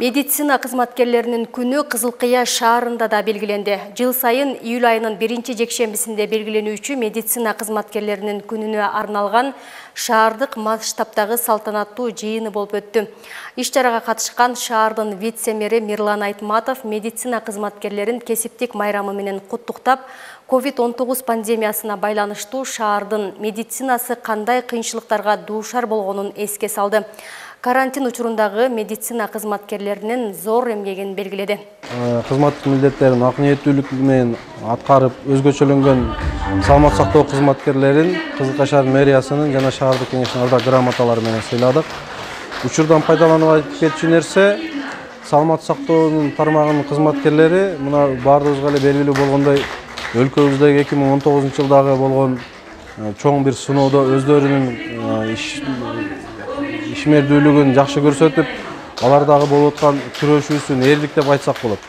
Медицина кызматкерлеринин күнү Кызылкыя шаарында да белгиленди. Жыл сайын июль айынын 1-жекшембисинде белгиленүүчү медицина кызматкерлеринин күнүнө арналган шаардык масштабтагы салтанаттуу жыйыны болуп өттү. Иш-чарага катышкан шаардын вице-мэри Мирлан Айтматов медицина кызматкерлерин кесиптик майрамы менен куттуктап, COVID-19 пандемиясына байланыштуу шаардын медицинасы кандай кыйынчылыктарга дуушар болгонун эске салды. Карантин учурундагы медицина кызматкерлеринин зор эмгегин белгиледи. Кызматтык милдеттерин ак ниеттүүлүк менен аткарып, өзгөчөлөнгөн саламат сактоо кызматкерлерин Кызылкая шаар мэриясынын жана шаардык кеңештин ардак грамоталары менен сыйладык. Учурдан пайдаланып айтып кетчү нерсе, саламат сактоонун тармагынын кызматкерлери мына баардыгыбызга эле белгилүү болгондой өлкөбүздөгү 2019 жылдагы болгон чоң бир сыноодо өздөрүнүн ишмердүүлүгүн жакшы көрсөтүп, алардагы болуп аткан күрөшүүсүн эрлик деп айтсак болот.